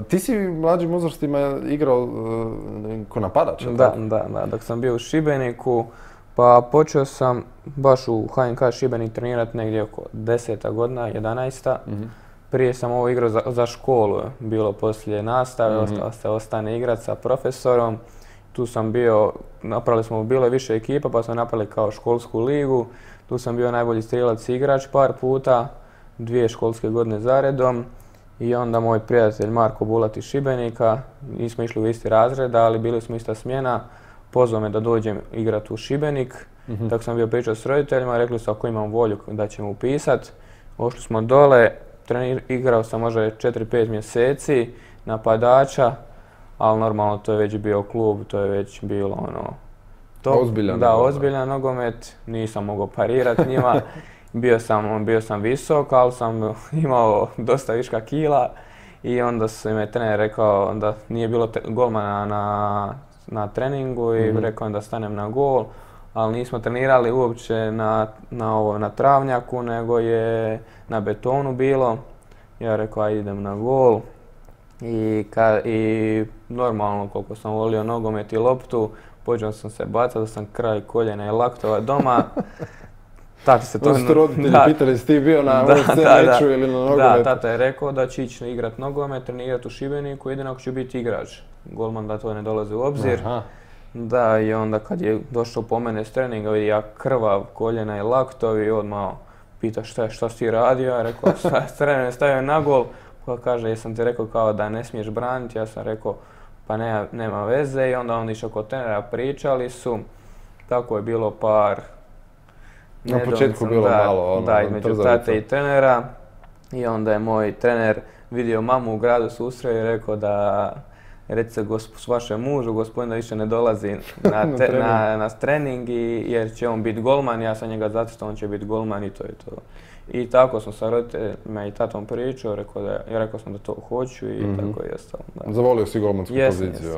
Ti si u mlađim uzrastima igrao ko napadač? Da. Dok sam bio u Šibeniku, pa počeo sam baš u HNK Šibenik trenirati negdje oko 10. godina, 11. Prije sam ovo igrao za školu, bilo poslije nastave, ostane igrati sa profesorom. Tu sam bio, napravili smo, bilo je više ekipa pa smo napravili kao školsku ligu. Tu sam bio najbolji strijelac i igrač par puta, 2 školske godine zaredom. I onda moj prijatelj Marko Bulat iz Šibenika, nismo išli u isti razred, ali bili smo ista smjena, pozvao me da dođem igrati u Šibenik. Tako sam bio pričao s roditeljima, rekli su ako imam volju da ćemo upisati. Ošli smo dole, igrao sam možda 4-5 mjeseci napadača, ali normalno to je već bio klub, to je već bilo ono... Ozbiljan nogomet, nisam mogao parirati njima. Bio sam visok, ali sam imao dosta viška kila i onda su me trener rekao da nije bilo golmana na treningu i rekao da stanem na gol, ali nismo trenirali uopće na travnjaku, nego je na betonu bilo. Ja rekao aj idem na gol i normalno koliko sam volio nogomet i loptu, počeo sam se bacati da sam kraj koljena i laktova doma. Tati se to... Su roditelji pitali si ti bio na meču ili na nogometu? Da, tata je rekao da će ići igrat nogomet, trenirati u Šibeniku, jedino ako će biti igrač. Golman da to ne dolazi u obzir. Da, i onda kad je došao po mene s treninga, vidi ja krvav, koljena i laktovi, odmah pita šta si ti radio, ja rekao trener stavio na gol, pa kaže jesam ti rekao kao da ne smiješ braniti, ja sam rekao pa nema veze i onda on išao kod trenera, pričali su, tako je bilo par... Na početku bilo malo ono... Da, između tate i trenera i onda je moj trener vidio mamu u gradu susreo i rekao da recite vašem mužu, gospodin da više ne dolazi na trening jer će on biti golman, ja sam njega zacrtao, on će biti golman i to je to. I tako sam sa roditeljima i tatom pričao, rekao sam da to hoću i tako je ostalo. Zavolio si golmansku poziciju?